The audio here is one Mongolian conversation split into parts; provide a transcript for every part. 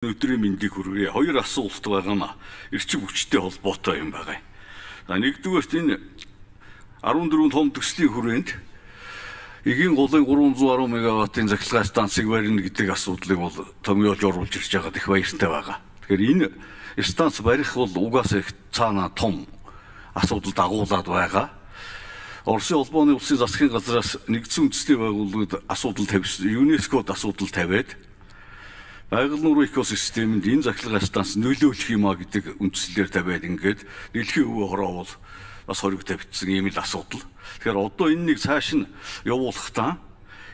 Өдрийн мэндийг хүргэе. Хоёр асуулт байгаа маа. Эрчим хүчтэй холбоотой юм байгаа. За нэгдүгээрт энэ 14 том төслийн хүрээнд эгийн голын 310 мегаваттын захиргааны станцыг барина гэдэг асуудлыг бол томьёолж оруулж ирж байгаа их баяртай байгаа. Тэгэхээр энэ станц барих бол угаасаа их цаана том асуудал дагуулад байгаа. Оросын холбооны улсын засгийн газраас нэгдсэн үндэсний байгууллагууд асуудал тавьсан, ЮНЕСКОд асуудал тавиад байгаль нуурын экосистемэнд энэ захиргааны станц нөлөөлөх юмаа гэдэг үндслээр тавиад ингээд дэлхийн өвөө хороо бол бас хориг тавьчихсан ийм л асуудал. Тэгэхээр одоо энэнийг цааш нь явуулахдаа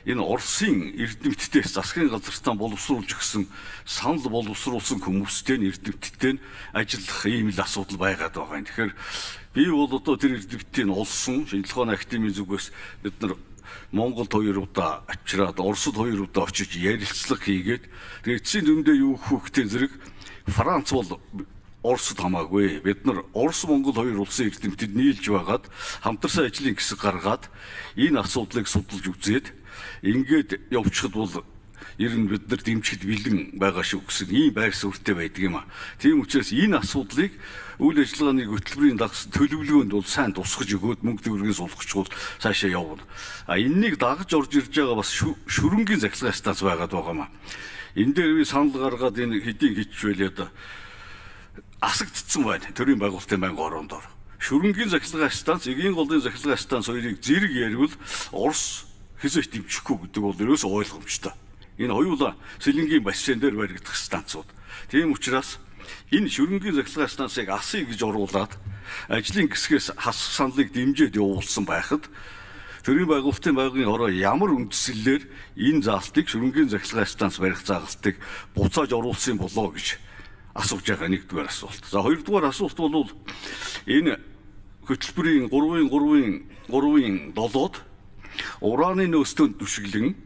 энэ Оросын эрдэмтдээс засгийн газартаа боловсруулж өгсөн санал боловсруулсан хүмүүстэй эрдэмтдтэй ажиллах ийм л асуудал байгаад байгаа юм. Тэгэхээр би бол одоо тэр эрдэмтдийг олсон шинжилгээ ухааны академийн зүгээс бид нар Монголд 2 удаа очираад Оросд 2 удаа очиж ярилцлага хийгээд тэгээд эцсийн дүндээ юу хөөхтэй зэрэг Франц бол Оросд хамаагүй. Бид нар Орос Монгол хоёр улсын эрдэмтэд нийлж байгаад хамтарсан ажлын хэсэг гаргаад энэ асуудлыг судалж үзээд ингээд явчихад бол ер нь бид нар дэмжихэд бэлэн байгаа шүү гэсэн ийм байр суурьтай байдаг юм а. Тийм учраас энэ асуудлыг үйл ажиллагааны хөтөлбөрийн дагсан төлөвлөгөөнд бол сайн тусгаж өгөөд мөнгө төгрөгийн сулгачвал цаашаа явна. А энэнийг дагаж орж ирж байгаа бас шүрэнгийн захиргааны станц байгаад байгаа юм а. Энэ дээр би санал гаргаад энэ хэдийн хичвэл одоо асагдцсан байна. Төрийн байгуулалтын байнгын орондоор. Шүрэнгийн захиргааны станц, эгийн голын захиргааны станц хоёрыг зэрэг ярил Орос хэзээ дэмжихгүй гэдэг бол ерөөсөө ойлгомжтой. Энэ хоёулаа Сэлэнгийн бассейн дээр баригдах станцууд. Тийм учраас энэ шүрэнгийн захиргааны станцыг асыг гэж оруулаад ажлын хэсгээс хасах саналыг дэмжиж явуулсан байхад төрийн байгуулалтын байнгын хороо ямар үндслэлээр энэ заалтыг шүрэнгийн захиргааны станц барих заалтыг буцааж оруулсан болоо гэж асууж байгаа нэгдүгээр асуулт. За хоёрдугаар асуулт бол энэ хөтөлбөрийн 3-ын 7-д ураны нөөцөнд түшиглэн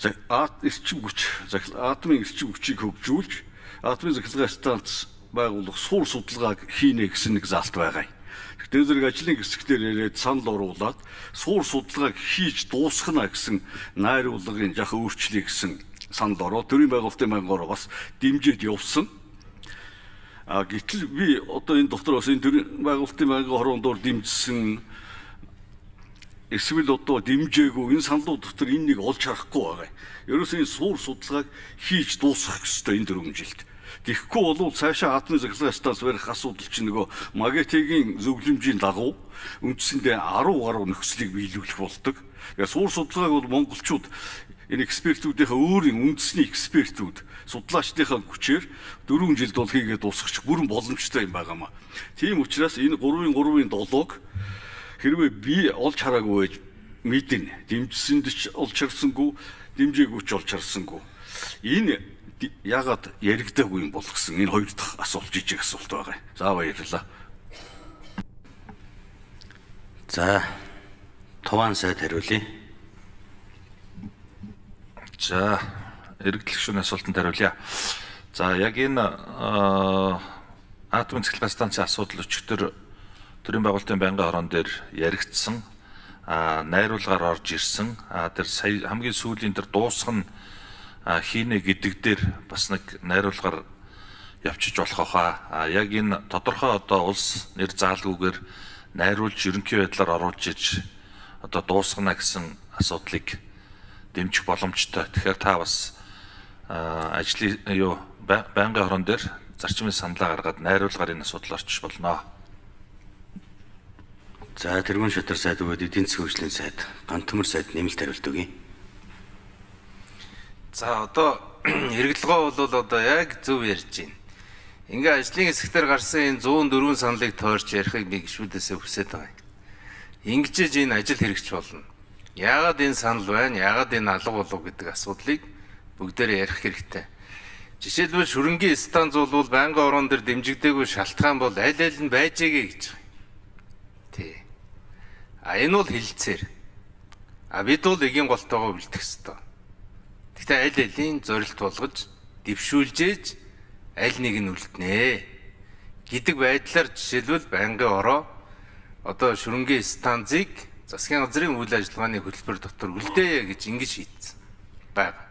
атомын эрчим хүчийг хөгжүүлж атомын захиргааны станц байгуулах суурь судалгааг хийнэ гэсэн нэг заалт байгаа юм. Тэгэхээр зэрэг ажлын хэсгээр яриад санал оруулаад суурь судалгааг хийж дуусгана гэсэн найруулгын жахан өөрчлөлий гэсэн санал ороод төрийн байгуулалтын байнгоор бас дэмжиж явсан. Гэтэл би одоо энэ дотор бас энэ төрийн байгуулалтын байнгын хороондоор дэмжсэн эсвэл одоо дэмжээгүй энэ саналууд дотор энэ нэг олж харахгүй байгаа. Ерөөсөө энэ суурь судалгааг хийж дуусгах ёстой энэ 4 жилд. Тэгэхгүй бол цаашаа атомын захиргааны станц барих асуудал чинь нөгөө Магетигийн зөвлөмжийн дагуу үндсэндээ 10 гаруй нөхцөлийг биелүүлэх болдог. Тэгээ суурь судалгааг бол монголчууд энэ экспертүүдийнхээ өөрийн үндэсний экспертүүд судлаачдынхаа хүчээр 4 жилд бол хийгээд дуусгачих бүрэн боломжтой юм байгаамаа. Тийм учраас энэ 3-ын 7-ог хэрвээ би олж хараагүй байж мэднэ. Дэмжсэнд ч олж харсангүй, дэмжээгүй ч олж харсангүй. Энэ яагаад яригдаагүй юм бол гэсэн энэ хоёр дахь асуулт жижиг асуулт байгаа. За баярлалаа. За Туван сайд хариулъя. За эргэлтэх шүүний асуултанд хариулъя. За яг энэ атомын захиргааны станцын асуудал өчигдөр төрийн байгуулалтын байнгын хорон дээр яригдсан, найруулгаар орж ирсэн, тэр сая хамгийн сүүлийн тэр дуусгах нь хийнэ гэдэг дээр бас нэг найруулгаар явчих болох хаа. Яг энэ тодорхой одоо улс нэр заалгүйгээр найруулж ерөнхий байдлаар оруулж иж одоо дуусгана гэсэн асуудлыг дэмжих боломжтой. Тэгэхээр та бас ажлын байнгын хорон дээр зарчмын саналаа гаргаад найруулгаар энэ асуудал орчих болно. За тэргүүн шатар сайд өгөөд эдийн засгийн хөгжлийн сайд Гантөмөр сайд нэмэлт хариулт өгье. За одоо эргэлгөө бол одоо яг зөв ярьж байна. Ингээ ажлын хэсгээр гарсан энэ 104 саналыг тойрч ярихыг би гişүүдээсээ хүсэж байгаа юм. Ингэж энэ ажил хэрэгч болно. Яагаад энэ санал байна? Яагаад энэ алга болов гэдэг асуудлыг бүгдээрээ ярих хэрэгтэй. Жишээлбэл шүрэнгийн станц бол байнгын орон дээр дэмжигдээгүй шалтгаан бол аль аль нь байжээгээ гэж байна. Тий. Энэ бол хилцээр. Бид бол эгийн голтойгоо үлдэх ёстой. Гэхдээ аль алийн зорилт болгож дэвшүүлжээж аль нэг нь үлднэ гэдэг байдлаар жишээлбэл байнгын ороо одоо шүрэнгийн станцыг засгийн газрын үйл ажиллагааны хөтөлбөр дотор үлдээе гэж ингэж шийдсэн байна.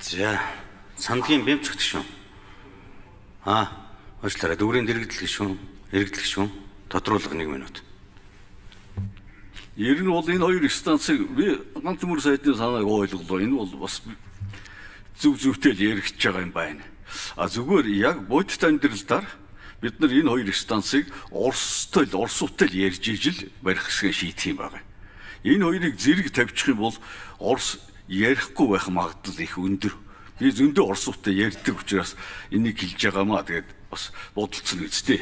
За, сандгийн бэмцэгт шүү. Уучлаарай, дүүрийн дэргэдэл шүү. Иргэдэл шүү. Тодруулга 1 минут. Ер нь бол энэ хоёр станцыг би ганц мөр сайдны санааг ойлголоо. Энэ бол бас зөвтэй л яригдж байгаа юм байна. Зүгээр яг бодит амьдралдаар бид нар энэ хоёр станцыг Оростой л ярьж ижил барих хэсгээ шийдэх юм байна. Энэ хоёрыг зэрэг тавьчих юм бол Орос ярихгүй байх магадлал их өндөр. Би зөндөө Оростой ярьдаг учраас энийг хэлж байгаамаа. Тэгээд бас бодолцсон үстэй.